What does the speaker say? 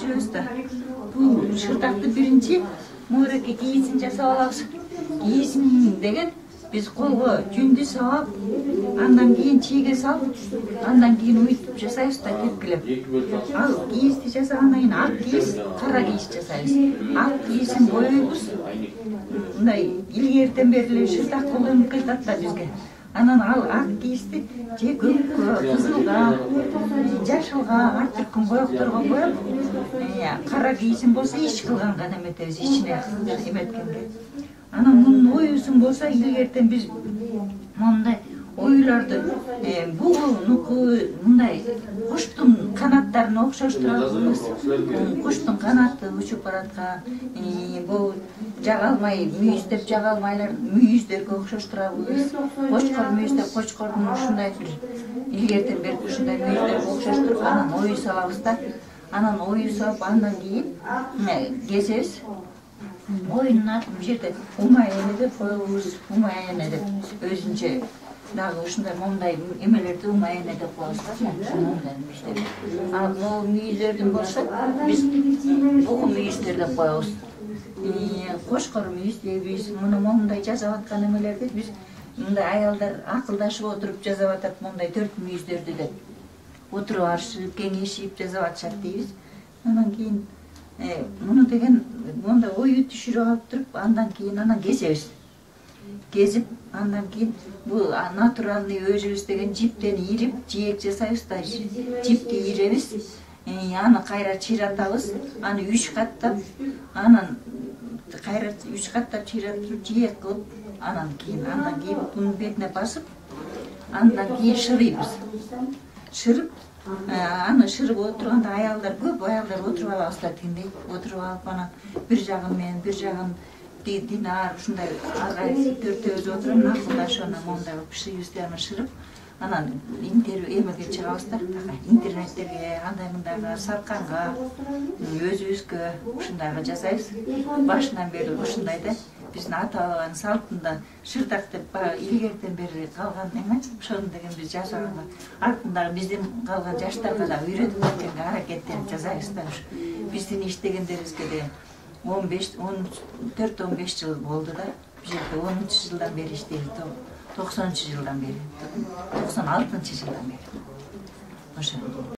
түшүрөбүз да. Бул шырдакты биринчи муреке кийизин жасап алабыз. Кийизин деген биз колго жүндү сабап, андан кийин чийге салып, андан кийин уйтуп жасайбыз да кепкилеп. Ал кийизди жасагандан кийин ак кийиз, кара кийиз жасайбыз. Ак кийизин боейбуз. Мындай илгертен бери эле шырдак колдонуп кетат да бизге. Анан ал ак кийизди же көккө, кызылга, жашылга, ар түркүн боекторго боеп, кара кийизин болсо иш кылганга эметебиз, ичине эметкенге. Анан мунун оюсун болсо илгертен биз мондай оюларды бугу, мындай куштун канаттарына окшоштурабыз. Куштун канаты учуп бараткан, бул жага алмай, мүйүз деп жага алмайлар мүйүздөргө окшоштурабыз. Кочкор мүйүз деп кочкордун ушундай бир илгертен бери ушундай мүйүздөргө окшоштуруп, анан ою салабыз да. Анан ою салып, андан кийин кесебиз. Оюнун атын бул жерде умаяне деп коебуз. Умаяне деп өзүнчө дагы ушундай момундай эмелерди умаяне деп коебуз да. Ал могу мүйүздөрдүн болсо биз бугу мүйүздөр деп коебуз. Кочкор мүйүз дейбиз. Муну момундай жасап аткан эмелерди биз мындай аялдар акылдашып отуруп жасап атат, мондай 4 мүйүздөрдү деп. Отуруп алышып, кеңешип жасап атышат дейбиз. Андан кийин муну деген мондай ою түшүрүп алып туруп, андан кийин кесебиз. Кесип, андан кийин бул натуральный өзүбүз деген жиптен ирип, жээк жасайбыз да. Жипти иребиз, аны кайра чыйратабыз, аны 3 каттап, анан кайра 3 каттап чыйратып, жээк кылып, андан кийин бунун бетине басып, андан кийин шырыйбыз. Шырып, аны шырып отурганда аялдар көп, аялдар отуруп алабыз да тигиндей. Отуруп алып, анан бир жагын мен, бир жагын Динар, ушундай төртөөбүз отуруп, акылдашып, анан мондай бышыйбыз да, аны шырып, анан эмеге чыгабыз да, интернеттерге, андай мындайга, сатканга, өзүбүзгө ушундайга жасайбыз. Башынан бери ушундай да, биздин ата бабанын салтында шырдак деп илгертен бери калган эме, ошону деген биз жасаганга, артындагы бизден калган жаштарга да үйрөтүп кеткенге аракеттенип жасайбыз да. Биздин иштегендерибизге деген 14-15 жыл болду да. Бул жерде 10-жылдан бери иштейбиз, 90-жылдан бери, 96-жылдан бери. Ошо.